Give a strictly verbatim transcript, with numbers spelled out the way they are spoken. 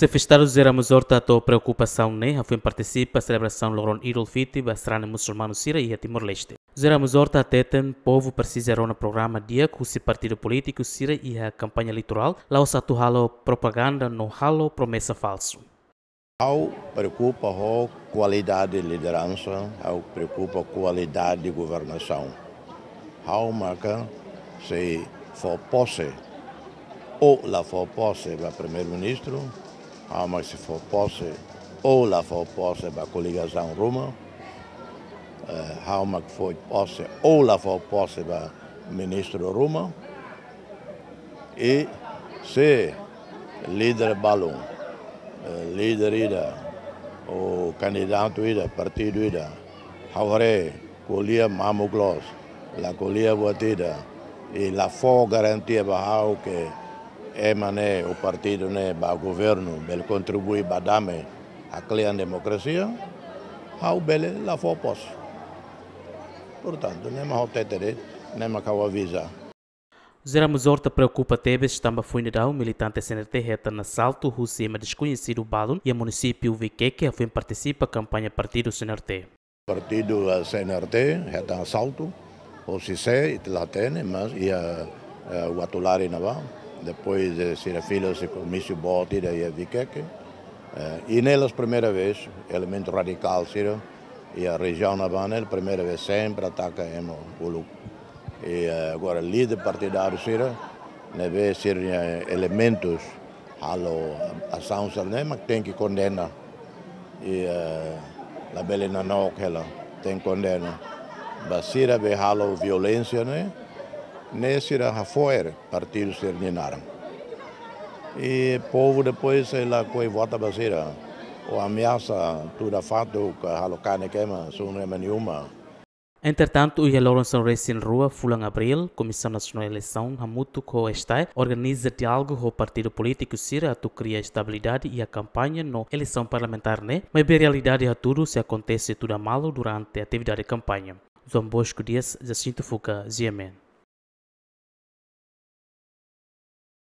Xefe Estadu José Ramos Horta hato'o preokupasaun ne'e hafoin partisipa selebrasaun loron Idul Fitri ba sarani musulmanu sira iha Timor-Leste. José Ramos Horta hateten povu presiza rona programa di'ak husi partidu polítiku sira iha kampaña eleitorál, la'ós atu halo propaganda no halo promesa falsu. Ha'u preokupa ho kualidade lideransa, ha'u preokupa kualidade governasaun. Ha'u maka sei fó pose ou la fó pose ba primeiru-ministru, ha'u maka sei fó pose ou la fó pose ba koligasaun ruma, eh, ha'u maka fó pose ou la fó pose ba ministru ruma. I se líder balun, eh, líder ida, ou kandidatu ida, partidu ida, ha'u haree ko'alia mamuk loos, la ko'alia buat ida, i la fó garantia ba ha'u ke ema ne'e ou partidu ne'e ba governu, bele kontribui ba dame, haklean demokrasia, ha'u bele la fó pose. Portantu, ne'e mak ha'u hateten de'it, ne'e mak ha'u aviza. José Ramos Horta preokupa tebes tanba foin daudaun militante C N R T hetan asaltu husi ema deskoñesidu balun iha munisípiu Viqueque hafoin partisipa kampaña partidu C N R T. Partidu, eh, C N R T hetan asaltu, husi sé ita la hatene, mas iha, eh, Uatolari ne'ebá, depois de sira fila husi komísiu boot ida iha Viqueque. Eh, i ne'e la'ós primeira vez, elementu radikál sira iha rejiaun ne'ebá ne'e, primeira vez sempre ataka ema uluk. I, eh, agora líder partidáriu sira, ne'ebé sira-nia elementus halo asaun sira-ne'e, mak tenke kondena. I, eh, labele nanook hela, tenke kondena. Ba sira be halo violénsia ne'e, ne'e sira hafo'er partidu sira-nia naran. I povu depois sei lakohi vota ba sira. Ou ameasa tuda fatuk, halo kanek ema, sunu ema nia uma. Entretantu, iha loron sanulu-resin-rua fulan Abríl, Komisaun Nasionál Eleisaun hamutuk ho STAE organiza diálogu ho partidu polítiku sira atu kria estabilidade iha kampaña no eleisaun parlamentár ne'e, maibé realidade hatudu sei akontese tuda malu durante atividade kampaña. João Bosco Dias, Jacinto Fuca, G M N.